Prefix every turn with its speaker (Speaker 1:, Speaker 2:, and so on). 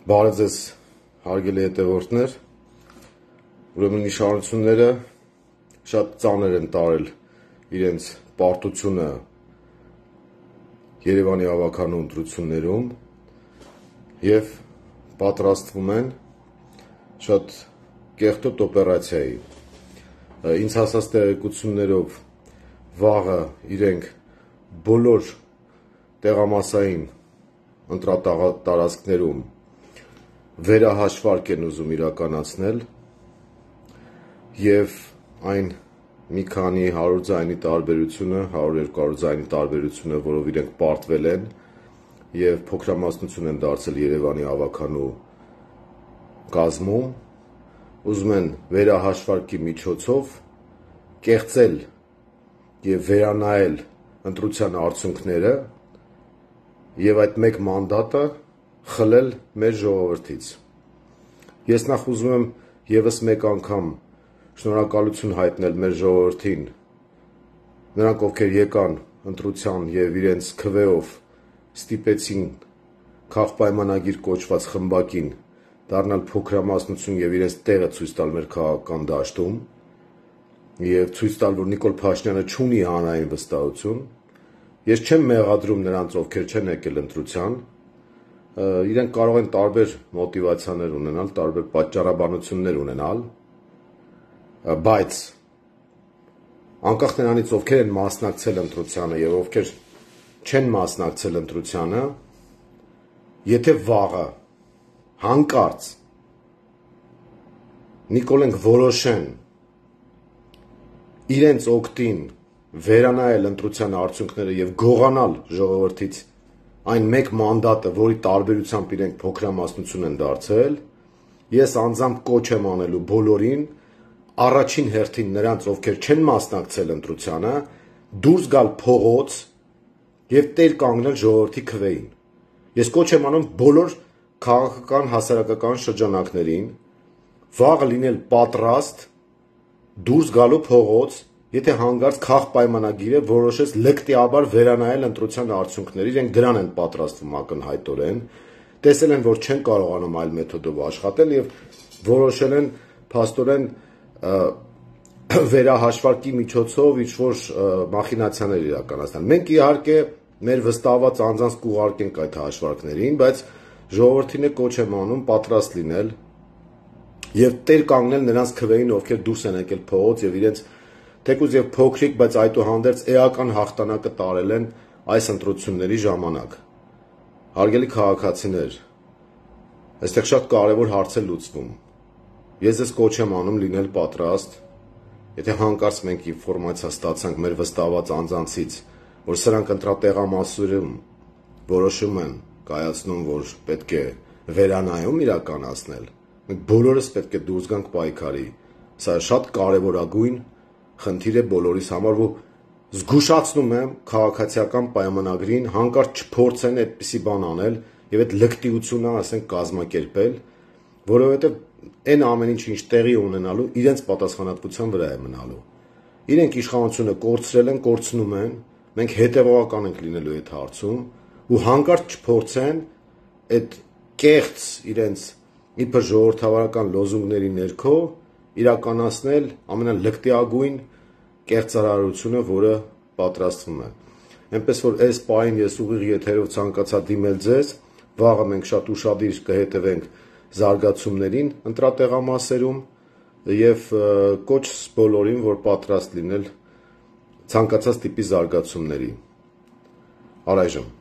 Speaker 1: Բարև ձեզ հարգելի հետևորդներ, ուրեմն իշխանությունները շատ ծանր են տարել իրենց պարտությունը Երևանի ավականու ընտրություններում և պատրաստվում են շատ կեղտոտ օպերացիայի։ Ինձ հասած տեղեկություններով վաղը իրենք բոլոր տեղամասային ընտրատարածքներում վերահաշվարկ են ուզում իրականացնել և այն մի քանի 100 ձայնի տարբերությունը, 100-200 ձայնի տարբերությունը, որով իրենք պարտվել են և փոքրամասնություն են դարձել Երևանի ավականու կազմում, ուզում են վերահաշվարկի միջոցով կեղծել և վերանայել ընտրության արդյունքները և այդ մեկ մանդատը խլել մեր ժողովրդից։ Ես նախ ուզում եմ ևս մեկ անգամ շնորհակալություն հայտնել մեր ժողովրդին, նրանք ովքեր եկան ընտրության և իրենց քվեով ստիպեցին քաղպայմանագիր կոչված խմբակին դառնալ փոքրամասնություն և իրենց տեղը ցույց տալ մեր քաղաքական դաշտում և ցույց տալ, որ Նիկոլ Փաշինյանը չունի հանրային վստահություն։ Ես չեմ մեղադրում նրանց, ովքեր չեն եկել ընտրության, իրենք կարող են տարբեր մոտիվացիաներ ունենալ, տարբեր պատճառաբանություններ ունենալ, բայց անկախ նրանից, ովքեր են մասնակցել ընտրությանը և ովքեր չեն մասնակցել ընտրությանը, եթե վաղը հանկարծ Նիկոլենք որոշեն իրենց օգտին վերանայել ընտրության արդյունքները և գողանալ ժողովրդից այն մեկ մանդատը, որի տարբերությամբ իրենք փոքրամասնություն են դարձել, ես անձամբ կոչ եմ անելու բոլորին, առաջին հերթին նրանց, ովքեր չեն մասնակցել ընտրությանը, դուրս գալ փողոց և տեր կանգնել ժողովրդի քվեին։ Ես կոչ եմ անում բոլոր քաղաքական հասարակական շրջանակներին վաղը լինել պատրաստ դուրս գալու փողոց, եթե հանկարծ քաղպայմանագիրը որոշեց լկտիաբար վերանայել ընտրության արդյունքները, իրենք դրան են պատրաստվում ակնհայտորեն, տեսել են, որ չեն կարողանում այլ մեթոդով աշխատել և որոշել են փաստորեն վերահաշվարկի միջոցով ինչ-որ մախինացիաներ իրականացնել։ Մենք իհարկե մեր վստահված անձանց կուղարկենք այդ հաշվարկներին, բայց ժողովրդին է կոչ եմ անում պատրաստ լինել և տեր կանգնել նրանց քվեին, ովքեր դուրս են եկել փողոց և իրենց թեկուզ և փոքրիկ, բայց այդուհանդերձ էական հաղթանակը տարել են այս ընտրությունների ժամանակ։ Հարգելի քաղաքացիներ, այստեղ շատ կարևոր հարց է լուծվում։ Ես ձեզ կոչ եմ անում լինել պատրաստ, եթե հանկարծ մենք ինֆորմացիա ստացանք մեր վստահված անձանցից, որ սրանք ընտրատեղամասերում որոշում են կայացնում, որ պետք է վերանայում իրականացնել, մենք բոլորս պետք է դուրս գանք պայքարի։ Սա շատ կարևորագույն խնդիր է բոլորիս համար, ու զգուշացնում եմ քաղաքացիական պայմանագրին հանկարծ չփորձեն այդպիսի բան անել և այդ լկտիությունը, ասենք, կազմակերպել, որովհետև այն ամեն ինչ տեղի ունենալու իրենց պատասխանատվության վրա է մնալու։ Իրենք իշխանությունը կորցրել են, կորցնում են, մենք հետևողական ենք լինելու այդ հարցում ու հանկարծ չփորձեն այդ կեղծ իրենց իբր ժողովրդավարական լոզունգների ներքո իրականացնել ամենալկտիագույն կեղծարարությունը, որը պատրաստվում է։ Էնպես որ այս պահին ես ուղիղ եթերով ցանկացա դիմել ձեզ, վաղը մենք շատ ուշադիր կհետևենք զարգացումներին ընտրատեղամասերում և կոչ բոլորին, որ պատրաստ լինել ցանկացած տիպի զարգացումների։ Առայժմ